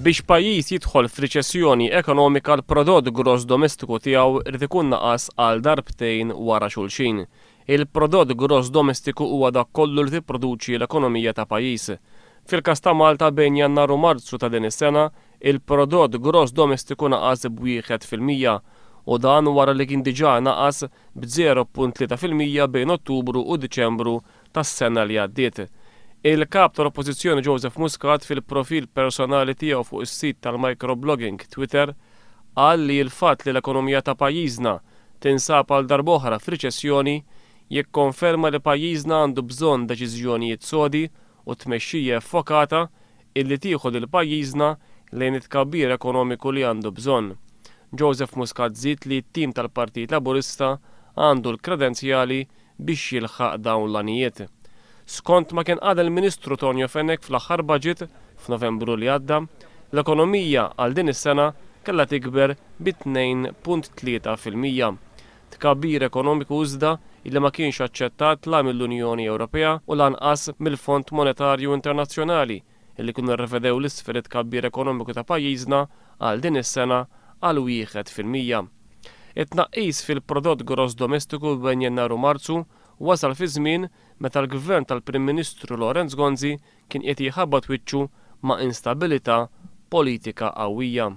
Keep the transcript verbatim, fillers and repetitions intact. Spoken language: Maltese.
Biex pajjiż jidħol f'riċessjoni ekonomika, l-prodott gross domestiku tiegħu irid ikun naqas għal darbtejn wara xulxin. Il-prodott gross domestiku huwa dak kollu li tipproduċi l-ekonomija ta' pajjiż. Fil-każ ta' Malta, bejn Jannar u Marzu ta' din is-sena, il-prodott gross domestiku naqas b'wieħed fil-mija u dan wara li kien diġà naqas b'żero punt tlieta fil-mija bejn Ottubru u Diċembru tas-sena li għaddiet. Il-kap tal-Oppożizzjoni Joseph Muscat, fil-profil personali tiegħu fuq is-sit tal-microblogging Twitter, qal li l-fatt li l-ekonomija ta' pajjiżna tinsab għal darb'oħra f'riċessjoni jikkonferma li pajjiżna għandu bżonn deċiżjonijiet sodi u tmexxija effokata illi tieħu lil pajjiżna lejn it-tkabbir ekonomiku li għandu bżonn. Joseph Muscat żied li t-tim tal-Partit Laburista għandu l-kredenzjali biex jilħaq dawn l-għanijiet. Skont ma kien qal il-Ministru Tonio Fenech fl-aħħar budget f'Novembru li għadda, l-ekonomija għal din is-sena kellha tikber bi tnejn punt tlieta fil-mija. Tkabbir ekonomiku iżda illi ma kienx aċċettat la mill-Unjoni Ewropea u lanqas mill-Fond Monetarju Internazzjonali, illi kienu rrevedew l-isfel it-tkabbir ekonomiku ta' pajjiżna għal din is-sena għal wieħed fil-mija. It-tnaqqis fil-prodott gross domestiku bejn Jannar u Marzu wasal fi żmien meta l-gvern tal-Prim Ministru Lawrence Gonzi kien qed jħabbat wiċċu ma' instabilità politika qawwija.